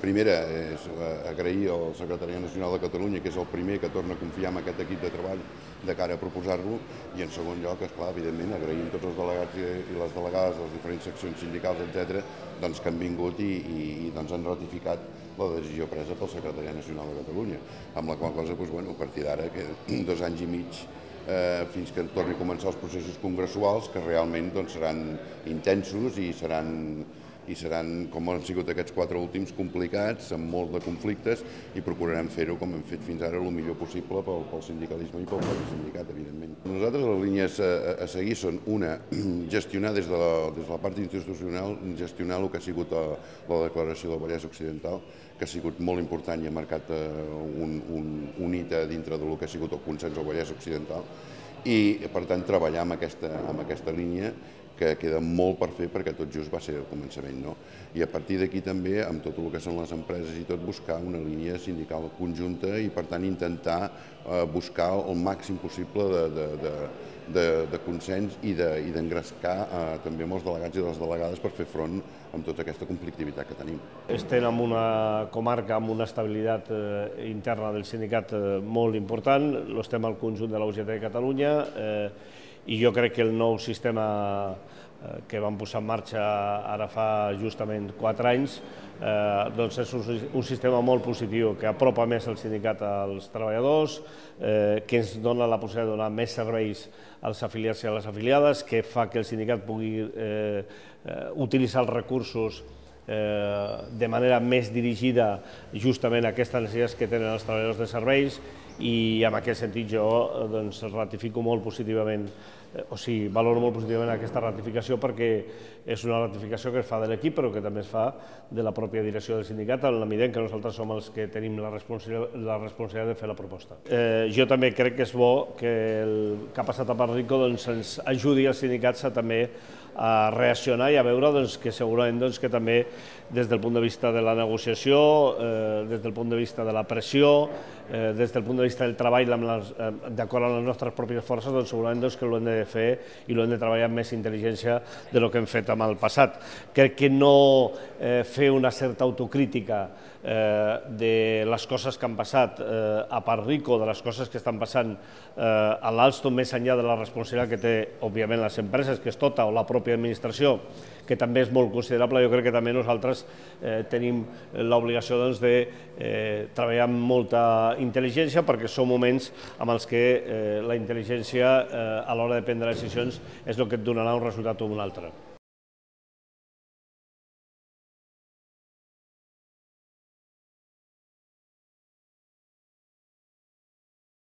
primera és agrair al Secretariat Nacional de Catalunya, que és el primer que torna a confiar en aquest equip de treball de cara a proposar-lo, i en segon lloc, esclar, evidentment, agraïm tots els delegats i les delegades de les diferents seccions sindicals, etc., doncs, que han vingut i doncs, han ratificat la decisió presa pel Secretariat Nacional de Catalunya, amb la qual cosa, doncs, bueno, a partir d'ara, que 2 anys i mig fins que torni a començar els processos congressuals, que realment doncs, seran intensos i seran, com han sigut aquests 4 últims, complicats, amb molts de conflictes, i procurarem fer-ho, com hem fet fins ara, el millor possible pel sindicalisme i pel propi sindicat, evidentment. Nosaltres les línies a seguir són, una, gestionar des de la part institucional, gestionar el que ha sigut la declaració del Vallès Occidental, que ha sigut molt important i ha marcat un hito dintre del que ha sigut el consens al Vallès Occidental, i, per tant, treballar amb aquesta línia, que queda molt per fer perquè tot just va ser el començament, no? I a partir d'aquí també, amb tot el que són les empreses i tot, buscar una línia sindical conjunta i, per tant, intentar buscar el màxim possible de consens i d'engrescar també amb els delegats i les delegades per fer front amb tota aquesta conflictivitat que tenim. Estem en una comarca amb una estabilitat interna del sindicat molt important, estem al conjunt de la UGT de Catalunya, i jo crec que el nou sistema que vam posar en marxa ara fa justament 4 anys doncs és un sistema molt positiu, que apropa més el sindicat als treballadors, que ens dona la possibilitat de donar més serveis als afiliats i a les afiliades, que fa que el sindicat pugui utilitzar els recursos de manera més dirigida justament a aquestes necessitats que tenen els treballadors de serveis, i en aquest sentit jo ratifico molt positivament, o sigui, valoro molt positivament aquesta ratificació, perquè és una ratificació que es fa de l'equip però que també es fa de la pròpia direcció del sindicat, en la mesura en què nosaltres som els que tenim la responsabilitat de fer la proposta. Jo també crec que és bo que el que ha passat a Panrico ens ajudi als sindicats a també a reaccionar i a veure que segurament que també des del punt de vista de la negociació, des del punt de vista de la pressió, des del punt de vista del treball d'acord amb les nostres pròpies forces, segurament que l'hem de fer i l'hem de treballar amb més intel·ligència del que hem fet en el passat. Crec que no fer una certa autocrítica de les coses que han passat a Panrico, de les coses que estan passant a l'Alstom, més enllà de la responsabilitat que té, òbviament, les empreses, que és tota, o la pròpia administració, que també és molt considerable. Jo crec que també nosaltres tenim l'obligació de treballar amb molta intel·ligència, perquè són moments en els que la intel·ligència a l'hora de prendre decisions és el que et donarà un resultat o un altre.